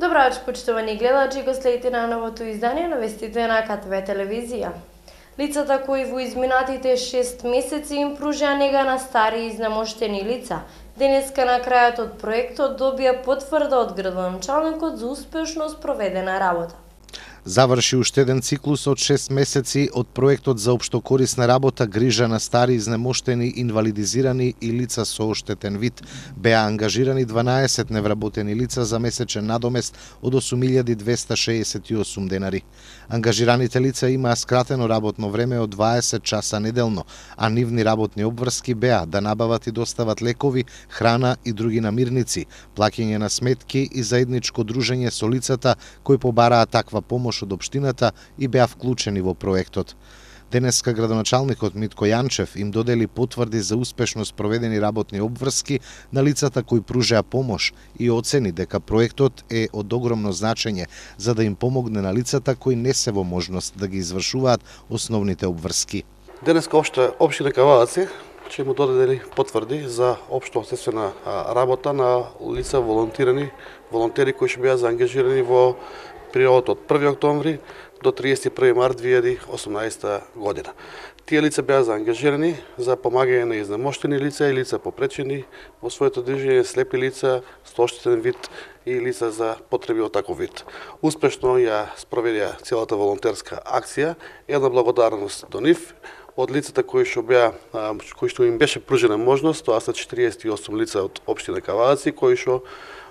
Добро вечер, почитувани гледачи, го следите на новото издание на вестите на КТВ телевизија. Лицата кои во изминатите 6 месеци им пружија нега на стари и изнемоштени лица, денеска на крајот од проектот добија потврда од градоначалникот за успешно спроведена работа. Заврши уште еден циклус од 6 месеци од проектот за општокорисна работа грижа на стари, изнемоштени, инвалидизирани и лица со оштетен вид. Беа ангажирани 12 невработени лица за месечен надомест од 8.268 денари. Ангажираните лица имаа скратено работно време од 20 часа неделно, а нивни работни обврски беа да набават и достават лекови, храна и други намирници, плаќање на сметки и заедничко дружење со лицата кои побараа таква помош од општината и беа вклучени во проектот. Денеска градоначалникот Митко Јанчев им додели потврди за успешно спроведени работни обврски на лицата кои пружеа помош и оцени дека проектот е од огромно значење за да им помогне на лицата кои не се во можност да ги извршуваат основните обврски. Денеска општина Кавадаци ќе му додели потврди за општо обществена работа на лица волонтери кои ќе беа заангажирани во периодот од 1 октомври до 31 март 2018 година. Тие лица беа заангажирани за помагање на изнемоштени лица и лица попречени во своето движење, слепи лица, со оштетен вид и лица за потреби од таков вид. Успешно ја спроведија целата волонтерска акција. Една благодарност до нив од лицата кои што им беше пружена можност, тоа се 48 лица од општина Кавадаци, кои што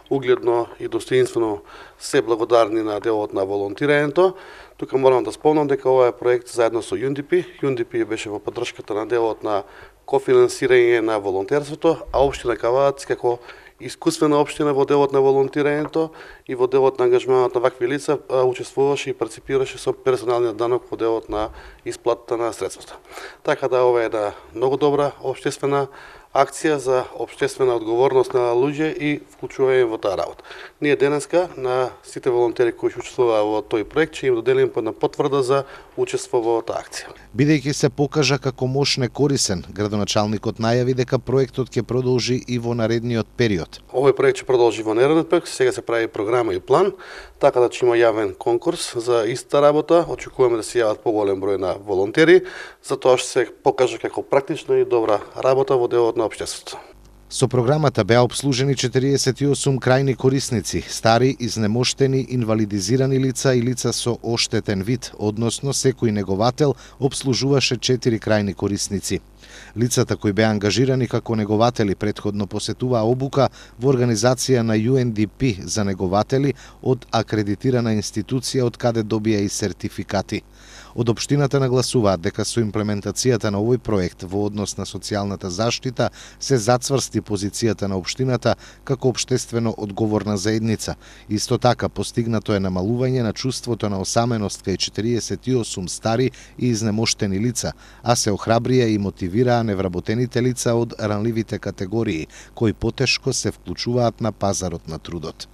угледно и достоинствено се благодарни на делот на волонтирањето. Тука морам да спомнам дека ова е проект заедно со UNDP. UNDP беше во поддршката на делот на кофинансирање на волонтерството, а општина Кавадаци како искусствена општина во делот на волонтирањето и во делот на ангажманот на вакви лица учествуваше и парципираше со персоналниот данок во делот на исплатата на средствата. Така да ова е една многу добра општествена акција за општествена одговорност на луѓе и вклучување во таа работа. Ние денеска на сите волонтери кои ќе учествуваа во тој проект ќе им доделиме една потврда за учество во таа акција. Бидејќи се покажа како мощ корисен, градоначалникот најави дека проектот ќе продолжи и во наредниот период. Овој проект ќе продолжи во наредниот период, сега се прави програма и план, така да ќе има јавен конкурс за иста работа. Очекуваме да се јават поголем број на волонтери, затоа што се покажа како практична и добра работа во делот на општеството. Со програмата беа обслужени 48 крајни корисници, стари, изнемоштени, инвалидизирани лица и лица со оштетен вид, односно секој неговател обслужуваше 4 крајни корисници. Лицата кои беа ангажирани како негователи претходно посетуваа обука во организација на UNDP за негователи од акредитирана институција од каде добија и сертификати. Од општината нагласуваат дека со имплементацијата на овој проект во однос на социјалната заштита се зацврсти позицијата на општината како општествено одговорна заедница. Исто така постигнато е намалување на чувството на осаменост кај 48 стари и изнемоштени лица, а се охрабрија и мотивираа невработените лица од ранливите категории, кои потешко се вклучуваат на пазарот на трудот.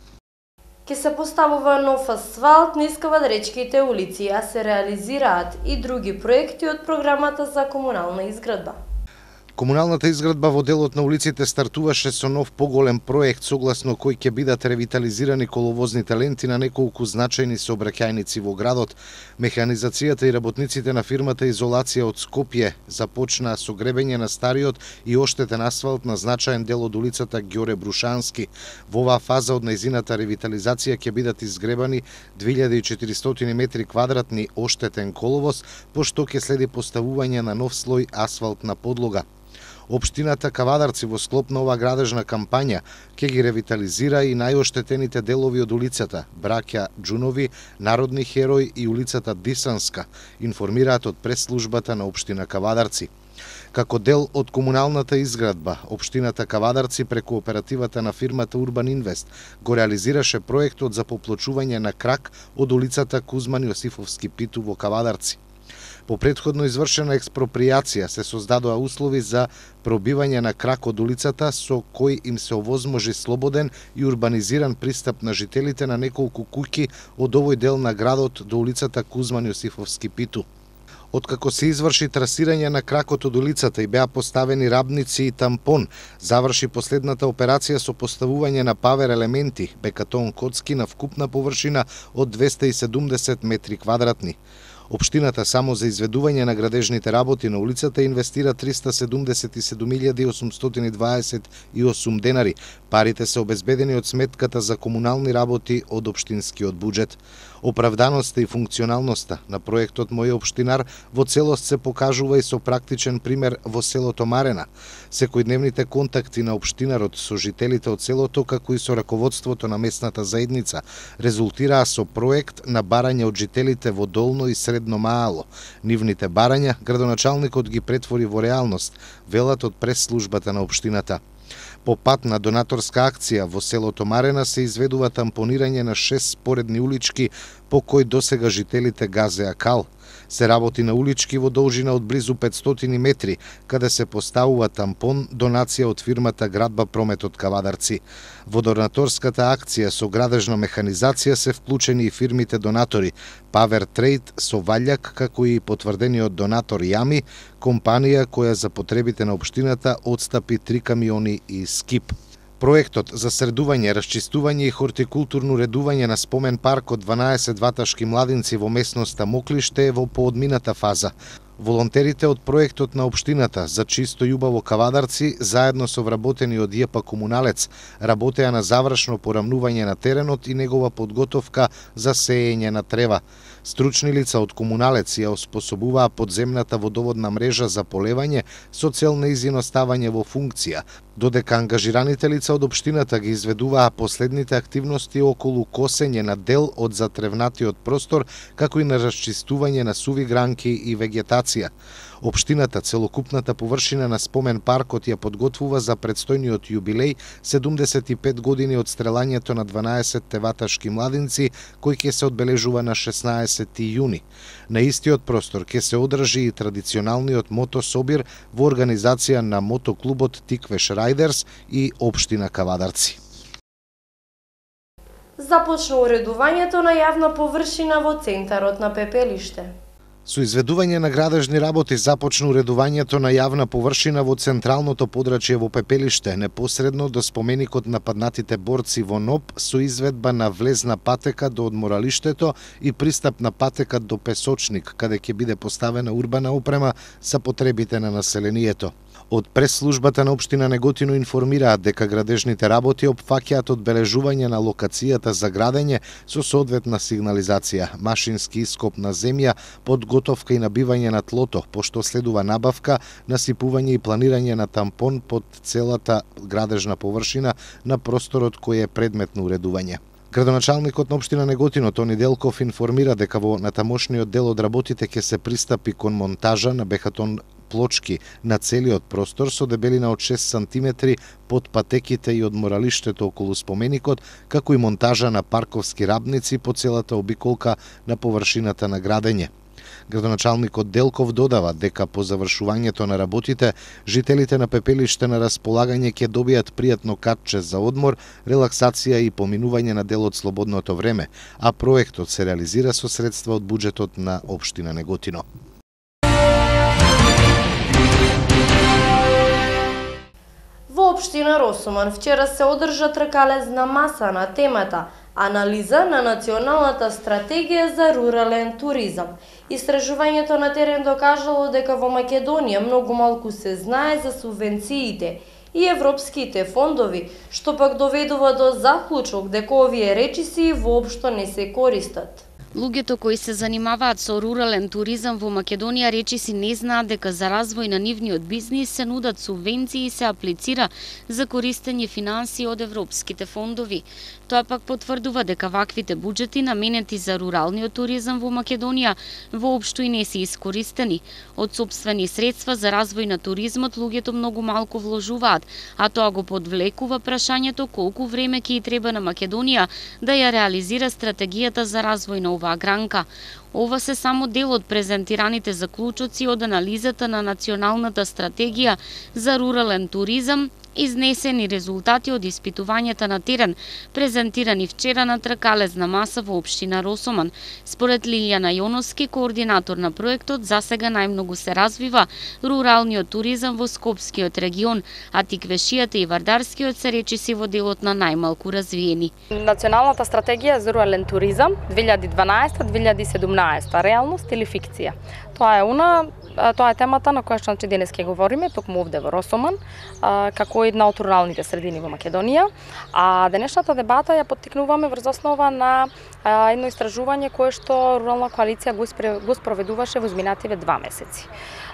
Ке се поставува нов асфалт низ кавадаречките улици, а се реализираат и други проекти од програмата за комунална изградба. Комуналната изградба во делот на улиците стартуваше со нов поголем проект согласно кој ќе бидат ревитализирани коловозните ленти на неколку значајни сообраќајници во градот. Механизацијата и работниците на фирмата Изолација од Скопје започнаа со гребење на стариот и оштетен асфалт на значаен дел од улицата Ѓоре Брушански. Во оваа фаза од нејзината ревитализација ќе бидат изгребани 2400 метри квадратни оштетен коловоз, пошто ќе следи поставување на нов слој асфалтна подлога. Општината Кавадарци во склоп на оваа градежна кампања ќе ги ревитализира и најоштетените делови од улицата Браќа Џунови, Народни херој и улицата Дисанска, информираат од пресслужбата на општина Кавадарци. Како дел од комуналната изградба, општината Кавадарци преку оперативата на фирмата Урбан Инвест го реализираше проектот за поплочување на крак од улицата Кузман Јосифовски Питу во Кавадарци. По претходно извршена експроприација се создадоа услови за пробивање на крак од улицата со кој им се овозможи слободен и урбанизиран пристап на жителите на неколку куќи од овој дел на градот до улицата Кузман Јосифовски Питу. Откако се изврши трасирање на кракот од улицата и беа поставени рабници и тампон, заврши последната операција со поставување на павер елементи, бекатон коцки на вкупна површина од 270 метри квадратни. Општината само за изведување на градежните работи на улицата инвестира 377.828 денари. Парите се обезбедени од сметката за комунални работи од општинскиот буџет. Оправданоста и функционалноста на проектот Мој општинар во целост се покажува и со практичен пример во селото Марена. Секојдневните контакти на општинарот со жителите од селото, како и со раководството на местната заедница, резултираа со проект на барање од жителите во Долно и Средно Маало. Нивните барања градоначалникот ги претвори во реалност, велат од прес-службата на општината. По пат на донаторска акција во селото Марена се изведува тампонирање на 6 споредни улички по кои досега жителите газеа кал. Се работи на улички во должина од близу 500 метри, каде се поставува тампон, донација од фирмата Градба Прометот Кавадарци. Во донаторската акција со градежна механизација се вклучени и фирмите донатори Павер Трейд со Валјак, како и потврдениот донатор Јами, компанија која за потребите на општината отстапи 3 камиони и скип. Проектот за средување, расчистување и хортикултурно редување на спомен парк од 12 ваташки младинци во месноста Моклиште е во поодмината фаза. Волонтерите од проектот на општината за чисто и убаво Кавадарци, заедно со вработени од ЈП Комуналец, работеа на завршно порамнување на теренот и негова подготовка за сеење на трева. Стручни лица од Комуналец ја оспособуваа подземната водоводна мрежа за полевање со цел нејзино ставање во функција, додека ангажираните лица од општината ги изведуваа последните активности околу косење на дел од затревнатиот простор, како и на расчистување на суви гранки и вегетација. Општината целокупната површина на спомен паркот ја подготвува за предстојниот јубилеј 75 години од стрелањето на 12 ваташки младинци, кој ќе се одбележува на 16 јуни. На истиот простор ќе се одржи и традиционалниот мотособир во организација на мотоклубот Тиквеш Рајдерс и општина Кавадарци. Започна уредувањето на јавна површина во центарот на Пепелиште. Со изведување на градежни работи започна уредувањето на јавна површина во централното подрачје во Пепелиште, непосредно до споменикот на паднатите борци во НОП, со изведба на влезна патека до одморалиштето и пристапна патека до Песочник, каде ќе биде поставена урбана опрема за потребите на населението. Од прес-службата на општина Неготино информираат дека градежните работи опфаќаат одбележување на локацијата за градење со соодветна сигнализација, машински ископ на земја, подготовка и набивање на тлото, пошто следува набавка, насипување и планирање на тампон под целата градежна површина на просторот кој е предмет на уредување. Градоначалникот на општина Неготино Тони Делков информира дека во натамошниот дел од работите ќе се пристапи кон монтажа на бехатон плочки на целиот простор со дебелина од 6 сантиметри под патеките и одморалиштето околу споменикот, како и монтажа на парковски рабници по целата обиколка на површината на градење. Градоначалникот Делков додава дека по завршувањето на работите, жителите на Пепелиште на располагање ќе добијат пријатно катче за одмор, релаксација и поминување на дел од слободното време, а проектот се реализира со средства од буџетот на општина Неготино. Во општина Росуман вчера се одржа тркалезна маса на темата Анализа на националната стратегија за рурален туризам. Истражувањето на терен докажало дека во Македонија многу малку се знае за субвенциите и европските фондови, што пак доведува до заклучок дека овие речиси воопшто не се користат. Луѓето кои се занимаваат со рурален туризам во Македонија речиси не знаат дека за развој на нивниот бизнис се нудат субвенции и се аплицира за користење финансии од европските фондови. Тоа пак потврдува дека ваквите буџети наменети за руралниот туризам во Македонија воопшто и не се искористени. Од сопствени средства за развој на туризмот луѓето многу малку вложуваат, а тоа го подвлекува прашањето колку време ќе и треба на Македонија да ја реализира стратегијата за развој на оваа гранка. Ова се само дел од презентираните заклучоци од анализата на националната стратегија за рурален туризам изнесени резултати од испитувањата на терен, презентирани вчера на тркалезна маса во општина Росоман. Според Лилјана Јоновски, координатор на проектот, засега најмногу се развива руралниот туризам во Скопскиот регион, а Тиквешијата и Вардарскиот се речиси во делот на најмалку развиени. Националната стратегија за рурален туризам 2012-2017, реалност или фикција. Тоа е темата на која што денес ќе говориме, токму овде во Росоман, како една од руралните средини во Македонија. А денешната дебата ја поттикнуваме врз основа на едно истражување кое што Рурална коалиција го спроведуваше во изминативе 2 месеци.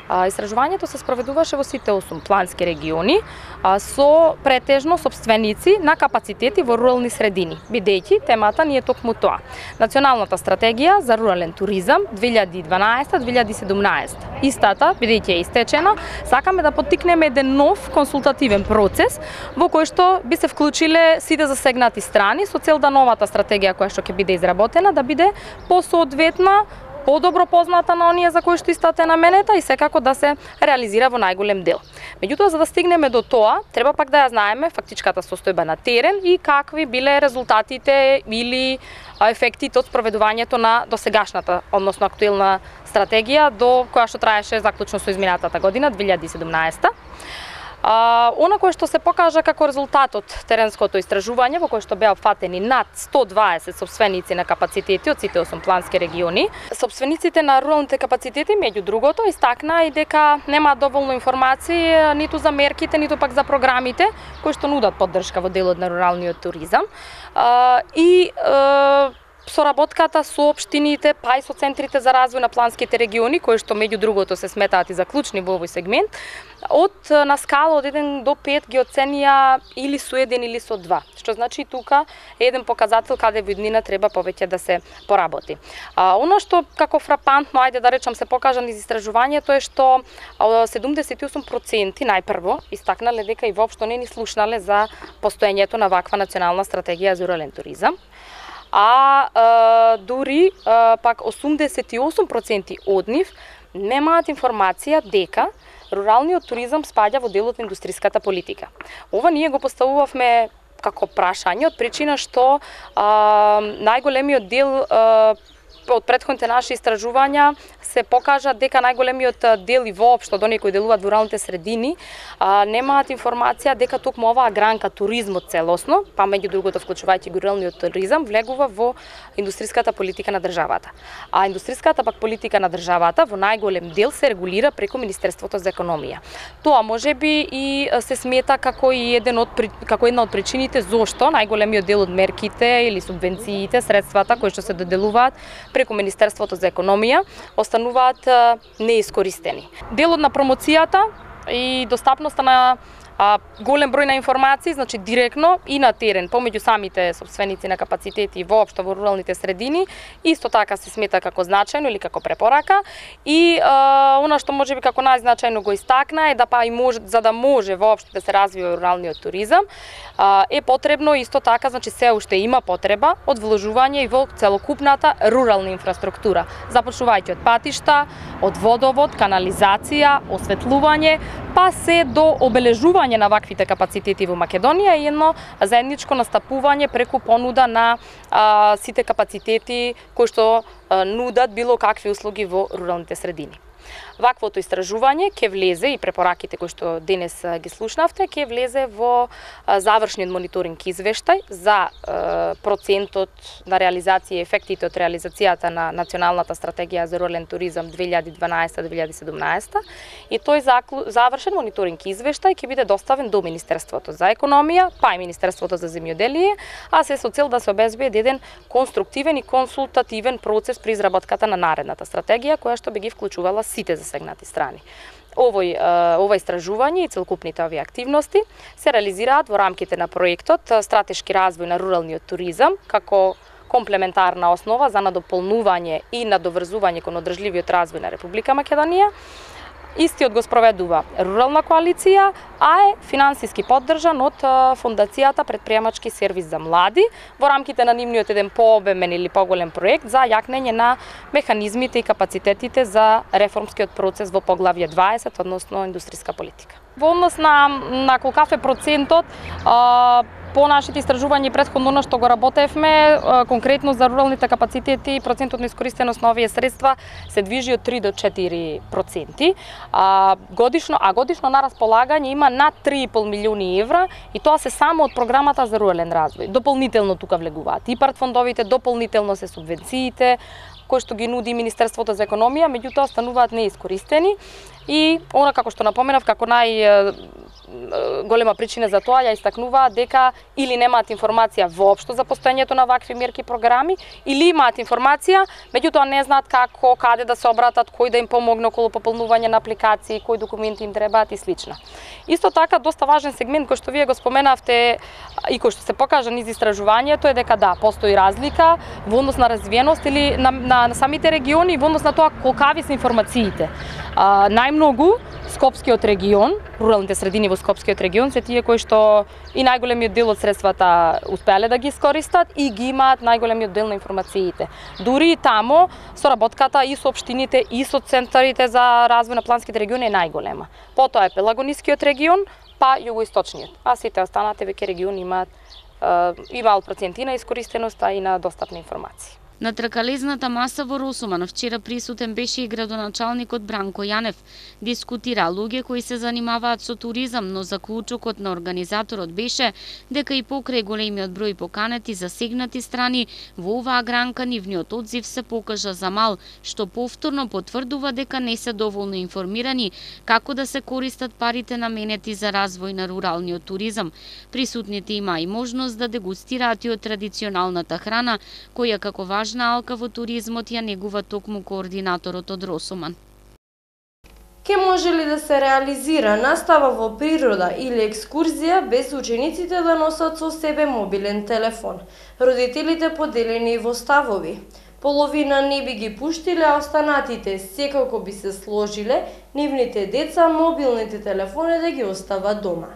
Истражувањето се спроведуваше во сите 8 плански региони со претежно собственици на капацитети во рурални средини, бидејќи темата ни е токму тоа. Националната стратегија за рурален туризам 2012-2017. Истата, бидејќи е истечена, сакаме да поттикнеме еден нов консултативен процес во кој што би се вклучиле сите засегнати страни со цел да новата стратегија која што ќе биде изработена да биде посоодветна, подобро позната на оние за кои што истата е наменета и секако да се реализира во најголем дел. Меѓутоа, за да стигнеме до тоа, треба пак да ја знаеме фактичката состојба на терен и какви биле резултатите или ефектите од спроведувањето на досегашната, односно актуелна стратегија до која што траеше заклучно со изминатата година 2017. Она кое што се покажа како резултат од теренското истражување, во кое што беа опфатени над 120 собственици на капацитети од сите 8 плански региони. Собствениците на руралните капацитети, меѓу другото, истакнаа и дека нема доволно информации ниту за мерките, ниту пак за програмите кои што нудат поддршка во делот на руралниот туризам. Соработката со општините, па и со центрите за развој на планските региони, кои што меѓу другото се сметаат и за клучни во овој сегмент, на скала од 1 до 5 ги оценија или со 1 или со 2, што значи тука е еден показател каде во иднина треба повеќе да се поработи. Оно што како фрапантно, ајде да речам, се покажа низ истражувањето е што 78% најпрво истакнале дека и воопшто не ни слушнале за постоењето на ваква национална стратегија за рурален туризам. Дури пак 88% од нив немаат информација дека руралниот туризам спаѓа во делот на индустријската политика. Ова ние го поставувавме како прашање од причина што најголемиот дел од претходните наши истражувања се покажа дека најголемиот дел и воопшто од оние кои делуваат во руралните средини немаат информација дека токму оваа гранка туризмот целосно, па меѓу другото вклучувајќи руралниот туризам, влегува во индустријската политика на државата. А индустријската пак политика на државата во најголем дел се регулира преку Министерството за економија. Тоа можеби и се смета како и една од причините зошто најголемиот дел од мерките или субвенциите, средствата кои што се доделуваат преку Министерството за економија остануваат неискористени. Делот на промоцијата и достапноста на голем број на информации, значи директно и на терен, помеѓу самите собственици на капацитети воопшто во руралните средини, исто така се смета како значајно или како препорака. И она што можеби како најзначајно го истакна е да за да може воопшто да се развива руралниот туризам, е потребно исто така, значи се уште има потреба од вложување и во целокупната рурална инфраструктура, започнувајќи од патишта, од водовод, канализација, осветлување, па се до обележување на ваквите капацитети во Македонија и едно заедничко настапување преку понуда на сите капацитети кои што нудат било какви услуги во руралните средини. Ваквото истражување ќе влезе и препораките кои што денес ги слушнавте, ќе влезе во завршниот мониторинг извештај за процентот на реализација и ефектите од реализацијата на националната стратегија за рурален туризам 2012-2017 и тој завршен мониторинг извештај ќе биде доставен до Министерството за економија, па и Министерството за земјоделие, а се со цел да се обезбеди еден конструктивен и консултативен процес при изработката на наредната стратегија која што би ги вклучувала сите засегнати страни. Ова истражување и целокупните овие активности се реализираат во рамките на проектот Стратешки развој на руралниот туризам како комплементарна основа за надополнување и надоврзување кон одржливиот развој на Република Македонија. Истиот го спроведува Рурална коалиција, а е финансиски поддржан од Фондацијата Предприемачки сервис за млади во рамките на нивниот еден пообемен или поголем проект за јакнење на механизмите и капацитетите за реформскиот процес во поглавје 20, односно индустријска политика. Во однос на колкав е процентот, по нашите истражувања претходно на што го работевме, конкретно за руралните капацитети, процентот на искористеност на овие средства се движи од 3 до 4%. Годишно на располагање има над 3,5 милиони евра и тоа се само од програмата за рурален развој. Дополнително тука влегуваат ИПАРД фондовите, дополнително се субвенциите кои што ги нуди Министерството за економија, меѓутоа остануваат неискористени и она како што напоменав како голема причина за тоа ја истакнуваат дека или немаат информација воопшто за постоењето на вакви мерки и програми, или имаат информација, меѓутоа не знаат како, каде да се обратат, кој да им помогне околу пополнување на апликации, кои документи им требаат и слично. Исто така, доста важен сегмент кој што вие го споменавте и кој што се покажа низ истражувањето е дека да, постои разлика во однос на развиеност или на самите региони и во однос на тоа колкави се информациите. Најмногу Скопскиот регион, руралните средини во Скопскиот регион се тие кои што и најголемиот дел од средствата успеале да ги искористат и ги имаат најголемиот дел на информациите. Дури и тамо соработката и со општините и со центарите за развој на планските региони е најголема. Потоа е Пелагонискиот регион, па југоисточниот, а сите останати веќе региони имаат мал проценти на искористеноста и на достапна информација. На тркалезната маса во Росуман вчера присутен беше и градоначалникот Бранко Јанев. Дискутира луѓе кои се занимаваат со туризам, но заклучокот на организаторот беше дека и покрај големиот број поканети засегнати страни во оваа гранка нивниот одзив се покажа за мал, што повторно потврдува дека не се доволно информирани како да се користат парите наменети за развој на руралниот туризам. Присутните има и можност да дегустираат и од традиционалната храна, која како важна алка во туризмот ја негува токму координаторот од Росуман. Ке може ли да се реализира настава во природа или екскурзија без учениците да носат со себе мобилен телефон? Родителите поделени во ставови. Половина не би ги пуштиле, а останатите секако би се сложиле нивните деца мобилните телефони да ги остават дома.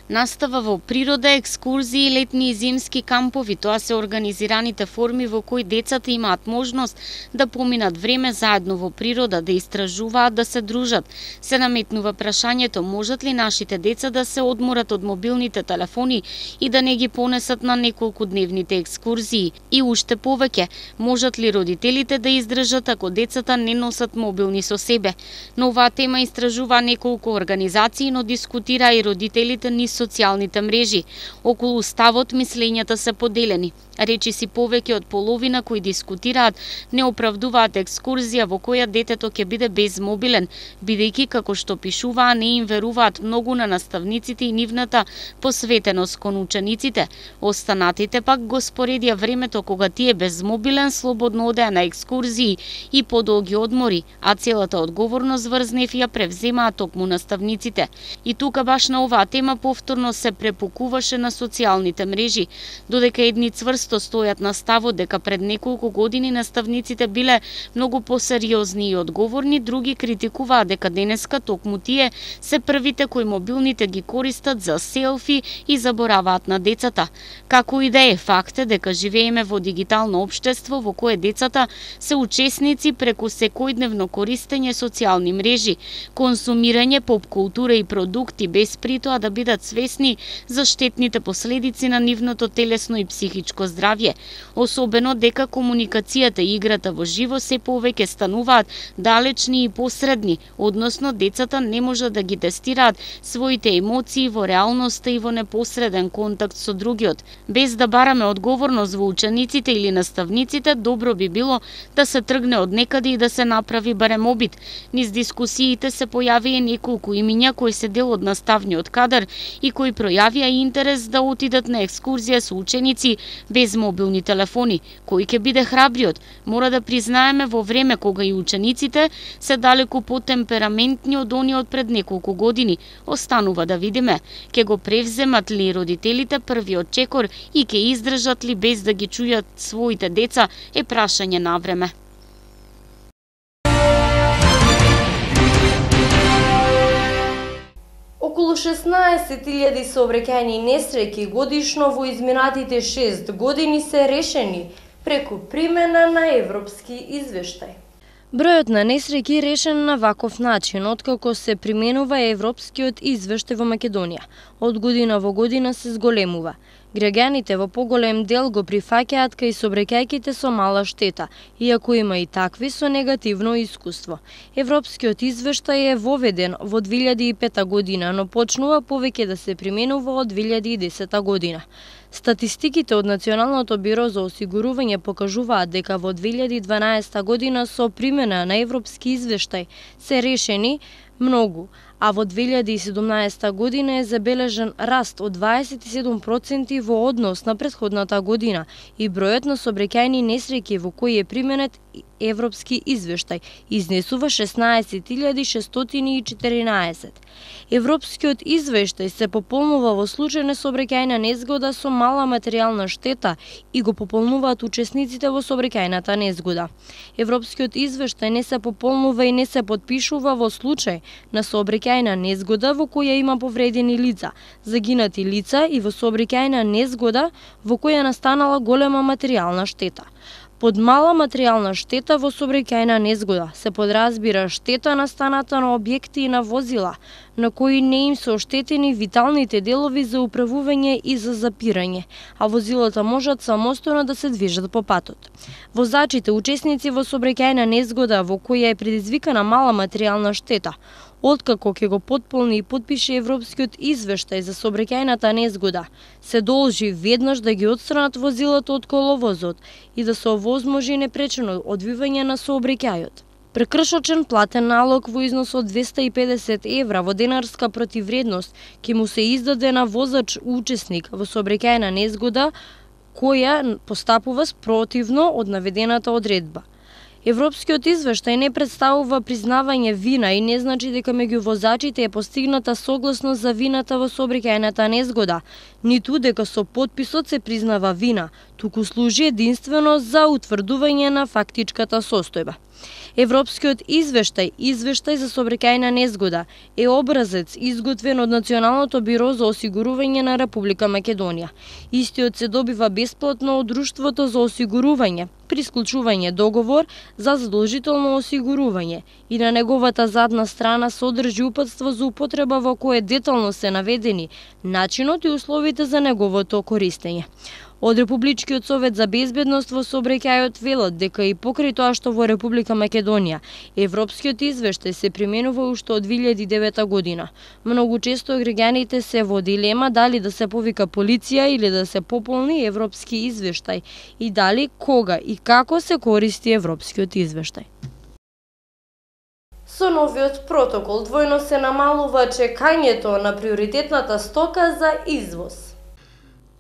Настава во природа, екскурзии, летни и зимски кампови, тоа се организираните форми во кои децата имаат можност да поминат време заедно во природа, да истражуваат, да се дружат. Се наметнува прашањето, можат ли нашите деца да се одморат од мобилните телефони и да не ги понесат на неколку дневните екскурзии? И уште повеќе, можат ли родителите да издржат ако децата не носат мобилни со себе? На оваа тема истражува неколку организации, но дискутира и родителите низ социјалните мрежи. Околу ставот мислењата се поделени. Речиси повеќе од половина кои дискутираат не оправдуваат екскурзија во која детето ќе биде безмобилен, бидејќи како што пишуваа не им веруваат многу на наставниците и нивната посветеност кон учениците. Останатите пак го споредија времето кога тие безмобилен слободно одеа на екскурзии и подолги одмори, а целата одговорност врз нив ја превземаат токму наставниците. И тука баш на оваа тема повторно се препукуваше на социјалните мрежи, додека едни цврсто стојат на ставот дека пред неколку години наставниците биле многу посериозни и одговорни, други критикуваат дека денеска токму тие се првите кои мобилните ги користат за селфи и забораваат на децата. Како и да е, факт е дека живееме во дигитално општество во кое децата се учесници преку секојдневно користење социјални мрежи, консумирање поп култура и продукти без при тоа да бидат свесни за штетните последици на нивното телесно и психичко здравје, особено дека комуникацијата и играта во живо се повеќе стануваат далечни и посредни, односно децата не можат да ги тестираат своите емоции во реалноста и во непосреден контакт со другиот. Без да бараме одговорност во учениците или наставниците, добро би било да се тргне од некаде и да се направи барем обид. Низ дискусиите се појавија неколку имиња кои се дел од наставниот кадар и кои пројавија интерес да отидат на екскурзија со ученици без мобилни телефони. Кој ќе биде храбриот? Мора да признаеме во време кога и учениците се далеку потемпераментни од оние од пред неколку години. Останува да видиме, ќе го превземат ли родителите првиот чекор и ќе издржат ли без да ги чујат своите деца, е прашање на време. Околу 16.000 сообраќајни несреќи годишно во изминатите 6 години се решени преку примена на европски извештај. Бројот на несреќи решен на ваков начин, откако се применува европскиот извештај во Македонија. Од година во година се зголемува. Граѓаните во поголем дел го прифаќаат кај сообраќајките со мала штета, иако има и такви со негативно искуство. Европскиот извештај е воведен во 2005 година, но почнува повеќе да се применува од 2010 година. Статистиките од Националното биро за осигурување покажуваат дека во 2012 година со примена на европски извештај се решени многу, а во 2017 година е забележан раст од 27% во однос на претходната година и бројот на сообраќајни несреќи во кои е применет европски извештај изнесува 16.614. Европскиот извештај се пополнува во случај на сообраќајна незгода со мала материјална штета и го пополнуваат учесниците во сообраќајната незгода. Европскиот извештај не се пополнува и не се потпишува во случај на сообраќајна незгода во која има повредени лица, загинати лица и во сообраќајна незгода во која настанала голема материјална штета. Под мала материјална штета во сообраќајна незгода се подразбира штета настаната на објекти и на возила, на кои не им се оштетени виталните делови за управување и за запирање, а возилата можат самостојно да се движат по патот. Возачите, учесници во сообраќајна незгода во која е предизвикана мала материјална штета, откако ќе го потполни и потпише европскиот извештај за сообраќајната незгода, се должи веднаш да ги отстранат возилата од коловозот и да се овозможи непречено одвивање на сообраќајот. Прекршочен платен налог во износ од 250 евра во денарска противвредност ќе му се издаде на возач учесник во сообраќајна незгода која постапува спротивно од наведената одредба. Европскиот извештај не представува признавање вина и не значи дека меѓу возачите е постигната согласност за вината во сообраќајната незгода, ниту дека со потписот се признава вина, туку служи единствено за утврдување на фактичката состојба. Европскиот извештај за сообраќајна незгода е образец изготвен од Националното биро за осигурување на Република Македонија. Истиот се добива бесплатно од Друштвото за осигурување при склучување договор за задолжително осигурување и на неговата задна страна содржи упатство за употреба во кое детално се наведени начинот и условите за неговото користење. Од Републичкиот совет за безбедност во сообраќајот велат дека и покрај тоа што во Република Македонија европскиот извештај се применува уште од 2009 година. Многу често граѓаните се во дилема дали да се повика полиција или да се пополни европски извештај и дали, кога и како се користи европскиот извештај. Со новиот протокол двојно се намалува чекањето на приоритетната стока за извоз.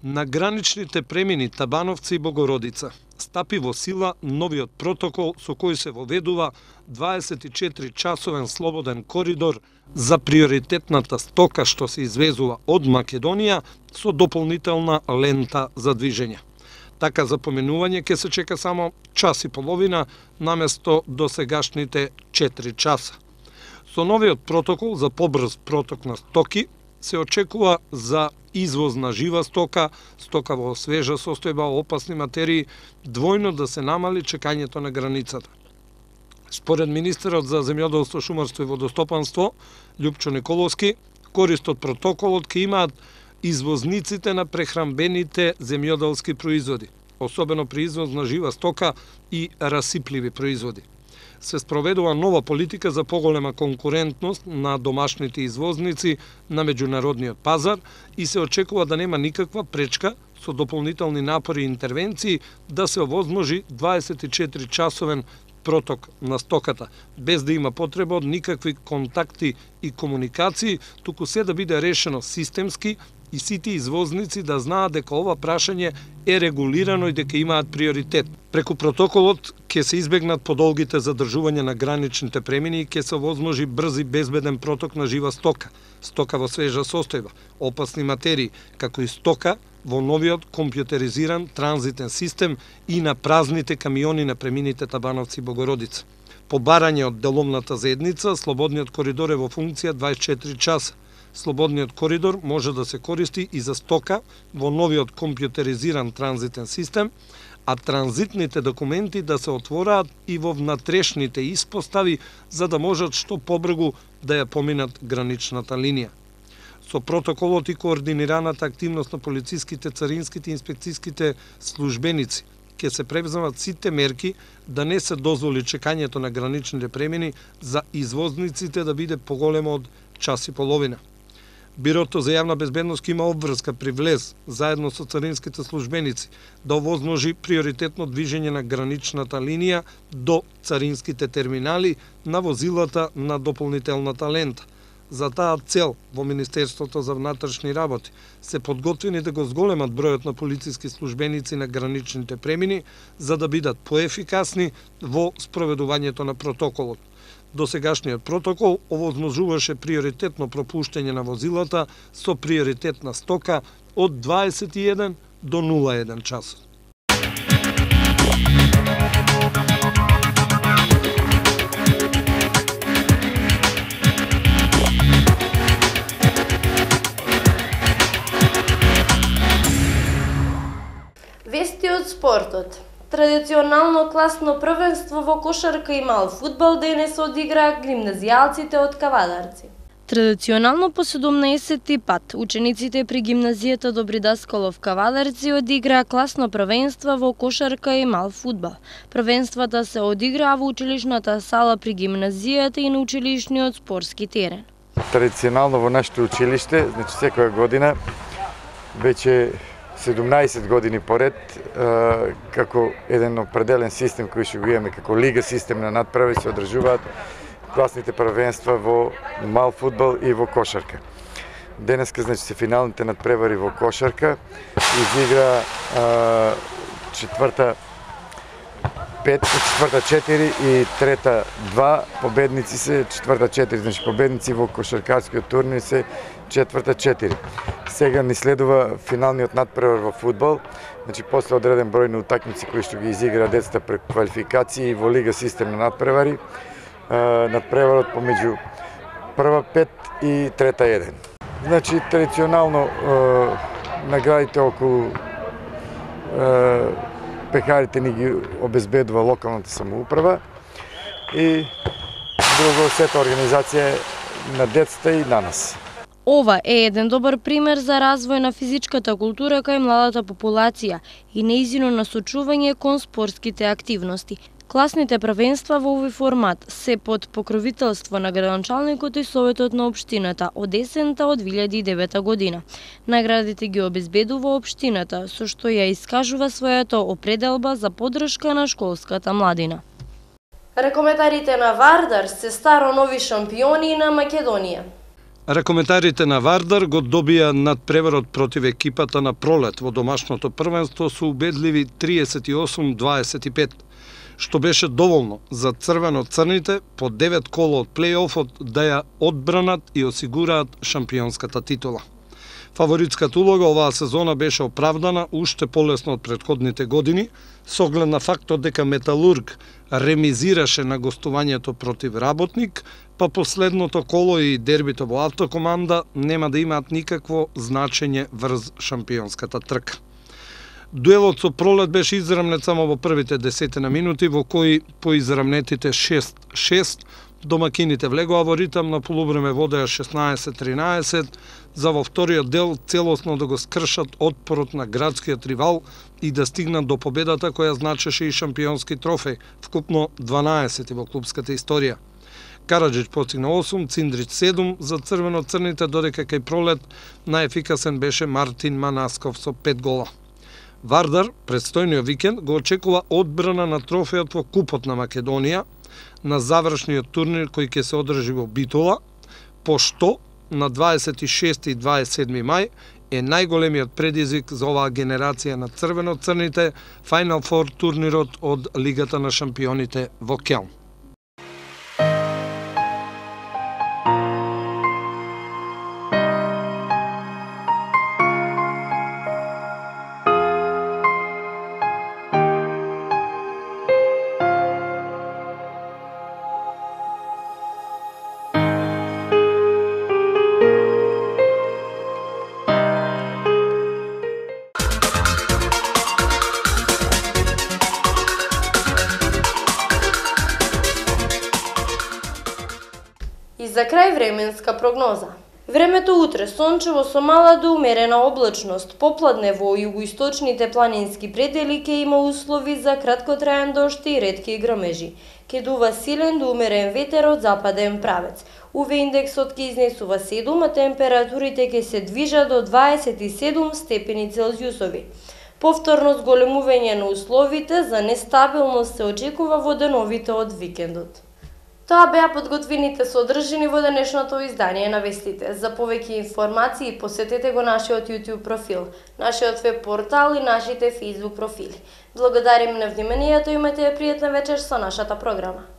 На граничните премини Табановци и Богородица стапи во сила новиот протокол со кој се воведува 24-часовен слободен коридор за приоритетната стока што се извезува од Македонија со дополнителна лента за движење. Така за поменување ќе се чека само час и половина наместо досегашните 4 часа. Со новиот протокол за побрз проток на стоки се очекува за извоз на жива стока, стока во свежа состојба, опасни материи, двојно да се намали чекањето на границата. Според министерот за земјоделство, шумарство и водостопанство, Љупчо Николовски, корист од протоколот ќе имаат извозниците на прехранбените земјоделски производи, особено при извоз на жива стока и расипливи производи. Се спроведува нова политика за поголема конкурентност на домашните извозници на меѓународниот пазар и се очекува да нема никаква пречка со дополнителни напори и интервенции да се овозможи 24-часовен проток на стоката, без да има потреба од никакви контакти и комуникации, туку се да биде решено системски и сите извозници да знаат дека ова прашање е регулирано и дека имаат приоритет. Преку протоколот ќе се избегнат подолгите задржување на граничните премини и ќе се овозможи брз и безбеден проток на жива стока, стока во свежа состојба, опасни материи, како и стока во новиот компјутеризиран транзитен систем и на празните камиони на премините Табановци и Богородица. По барање од деловната заедница, слободниот коридор е во функција 24 часа. Слободниот коридор може да се користи и за стока во новиот компјутеризиран транзитен систем, а транзитните документи да се отвораат и во внатрешните испостави за да можат што побрзо да ја поминат граничната линија. Со протоколот и координираната активност на полициските, царинските и инспекцијските службеници ќе се превземат сите мерки да не се дозволи чекањето на граничните премини за извозниците да биде поголемо од час и половина. Бирото за јавна безбедност има обврска при влез, заедно со царинските службеници, да овозможи приоритетно движење на граничната линија до царинските терминали на возилата на дополнителната лента. За таа цел во Министерството за внатрешни работи се подготвени да го зголемат бројот на полициски службеници на граничните премини за да бидат поефикасни во спроведувањето на протоколот. Досегашниот протокол овозможуваше приоритетно пропуштање на возилата со приоритетна стока од 21 до 01 часот. Вести од спортот. Традиционално класно првенство во кошарка и мал фудбал денес одиграа гимназијалците од Кавадарци. Традиционално по 17-ти пат учениците при гимназијата Добри Даскалов Кавадарци одиграа класно првенство во кошарка и мал фудбал. Првенствата се одиграа во училишната сала при гимназијата и на училишниот спортски терен. Традиционално во нашето училиште, значи секоја година, веќе 17 години поред, како еден определен систем кој што го имаме како лига систем на надправи, се одржуваат класните првенства во мал фудбал и во кошарка. Денеска, значи, се финалните надпревари во кошарка, изигра четврта 4 и трета 2, победници се четврта 4, значи победници во кошаркарскиот турнир се четврта 4. Сега ни следува финалниот надпревар во фудбал, значи после одреден број на утакмици кои што ги изигра децата преку квалификации во лига систем на надпревари, надпреварот помеѓу прва 5 и трета 1. Значи традиционално наградите околу пекарите ни ги обезбедува локалната самоуправа и друго сета организација на децата и на нас. Ова е еден добар пример за развој на физичката култура кај младата популација и нејзино насочување кон спортските активности. Класните првенства во овој формат се под покровителство на градоначалникот и Советот на општината од есента од 2009 година. Наградите ги обезбедува општината, со што ја искажува својата определба за поддршка на школската младина. Ракометарите на Вардар се старо нови шампиони на Македонија. Ракометарите на Вардар го добија надпреварот против екипата на Пролет во домашното првенство со убедливи 38-25, што беше доволно за црвено-црните по 9 кола од плејофот да ја одбранат и осигураат шампионската титула. Фаворитската улога оваа сезона беше оправдана уште полесно од претходните години, со оглед на фактот дека Металург ремизираше на гостувањето против Работник, па последното коло и дербито во Автокоманда нема да имаат никакво значење врз шампионската трка. Дуелот со Пролет беше израмнет само во првите 10 минути, во кои по израмнетите 6-6 домакините влегоа во ритам на полувреме водеа 16-13, за во вториот дел целосно да го скршат отпорот на градскиот ривал и да стигнат до победата која значеше и шампионски трофеј, вкупно 12 во клубската историја. Караджич постигна 8, Циндрич 7 за црвено-црните, додека кај Пролет најефикасен беше Мартин Манасков со 5 гола. Вардар, предстојниот викенд, го очекува одбрана на трофеот во Купот на Македонија, на завршниот турнир кој ќе се одржи во Битола, пошто на 26 и 27 мај е најголемиот предизвик за оваа генерација на црвено-црните Final Four турнирот од Лигата на шампионите во Келн. За крај временска прогноза. Времето утре сончево со мала до умерена облачност, попладне во југоисточните планински предели ќе има услови за краткотраен дожд и ретки грмежи. Ќе дува силен до умерен ветер од западен правец. УВ индексот ќе изнесува 7, а температурите ќе се движат до 27 степени Целзиусови. Повторно зголемување на условите за нестабилност се очекува во деновите од викендот. Тоа беа подготвените содржини во денешното издание на вестите. За повеќе информации посетете го нашиот YouTube профил, нашиот веб портал и нашите Facebook профили. Благодарим на вниманието и имате пријатна вечер со нашата програма.